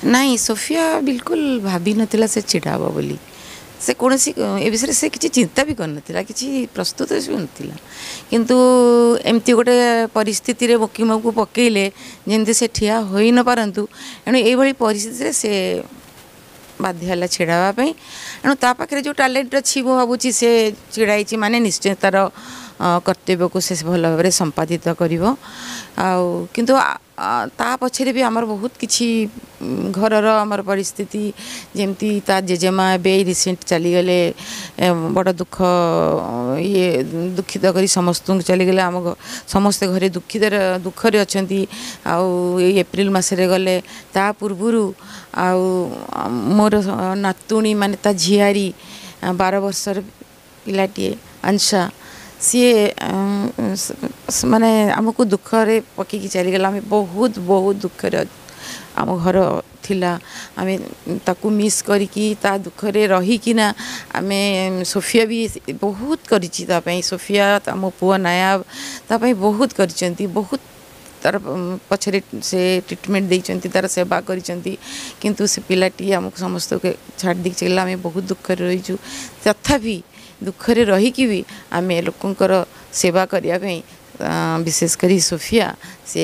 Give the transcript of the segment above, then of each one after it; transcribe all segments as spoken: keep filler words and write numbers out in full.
ନାଇଁ, ସୋଫିଆ ବିଲକୁଲ ଭାବିନଥିଲା ସେ ଛିଡ଼ା ହେବ ବୋଲି। ସେ କୌଣସି ଏ ବିଷୟରେ ସେ କିଛି ଚିନ୍ତା ବି କରିନଥିଲା, କିଛି ପ୍ରସ୍ତୁତ ବି ନଥିଲା। କିନ୍ତୁ ଏମିତି ଗୋଟେ ପରିସ୍ଥିତିରେ ମୋକିମକୁ ପକେଇଲେ ଯେମିତି ସେ ଠିଆ ହୋଇ ନ ପାରନ୍ତୁ। ଏଣୁ ଏଇଭଳି ପରିସ୍ଥିତିରେ ସେ ବାଧ୍ୟ ହେଲା ଛିଡ଼ା ହେବା ପାଇଁ। ଏଣୁ ତା ପାଖରେ ଯେଉଁ ଟ୍ୟାଲେଣ୍ଟ ଅଛି, ମୁଁ ଭାବୁଛି ସେ ଛିଡ଼ା ହେଇଛି ମାନେ ନିଶ୍ଚୟ ତା'ର କର୍ତ୍ତବ୍ୟକୁ ସେ ଭଲ ଭାବରେ ସମ୍ପାଦିତ କରିବ। ଆଉ କିନ୍ତୁ ତା ପଛରେ ବି ଆମର ବହୁତ କିଛି ଘରର ଆମର ପରିସ୍ଥିତି, ଯେମିତି ତା ଜେଜେମା ଏବେ ରିସେଣ୍ଟ ଚାଲିଗଲେ, ବଡ଼ ଦୁଃଖ ଇଏ ଦୁଃଖିତ କରି ସମସ୍ତଙ୍କୁ ଚାଲିଗଲେ। ଆମ ସମସ୍ତେ ଘରେ ଦୁଃଖିତରେ ଦୁଃଖରେ ଅଛନ୍ତି। ଆଉ ଏଇ ଏପ୍ରିଲ ମାସରେ ଗଲେ। ତା ପୂର୍ବରୁ ଆଉ ମୋର ନାତୁଣୀ, ମାନେ ତା ଝିଆରୀ, ବାର ବର୍ଷର ପିଲାଟିଏ ଅଂଶା, ସିଏ ମାନେ ଆମକୁ ଦୁଃଖରେ ପକେଇକି ଚାଲିଗଲା। ଆମେ ବହୁତ ବହୁତ ଦୁଃଖରେ ଆମ ଘର ଥିଲା। ଆମେ ତାକୁ ମିସ୍ କରିକି ତା ଦୁଃଖରେ ରହିକିନା ଆମେ, ସୋଫିଆ ବି ବହୁତ କରିଛି ତା ପାଇଁ। ସୋଫିଆ, ଆମ ପୁଅ ନାୟାବ ତା ପାଇଁ ବହୁତ କରିଛନ୍ତି, ବହୁତ ତାର ପଛରେ ସେ ଟ୍ରିଟମେଣ୍ଟ ଦେଇଛନ୍ତି, ତାର ସେବା କରିଛନ୍ତି। କିନ୍ତୁ ସେ ପିଲାଟି ଆମକୁ ସମସ୍ତଙ୍କୁ ଛାଡ଼ି ଦେଇକି ଚାଲିଲା। ଆମେ ବହୁତ ଦୁଃଖରେ ରହିଛୁ। ତଥାପି ଦୁଃଖରେ ରହିକି ବି ଆମେ ଲୋକଙ୍କର ସେବା କରିବା ପାଇଁ, ବିଶେଷ କରି ସୋଫିଆ, ସେ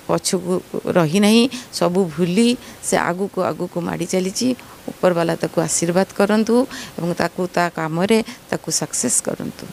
ପଛକୁ ରହିନାହିଁ। ସବୁ ଭୁଲି ସେ ଆଗକୁ ଆଗକୁ ମାଡ଼ି ଚାଲିଛି। ଉପରବାଲା ତାକୁ ଆଶୀର୍ବାଦ କରନ୍ତୁ ଏବଂ ତାକୁ ତା କାମରେ ତାକୁ ସକ୍ସେସ୍ କରନ୍ତୁ।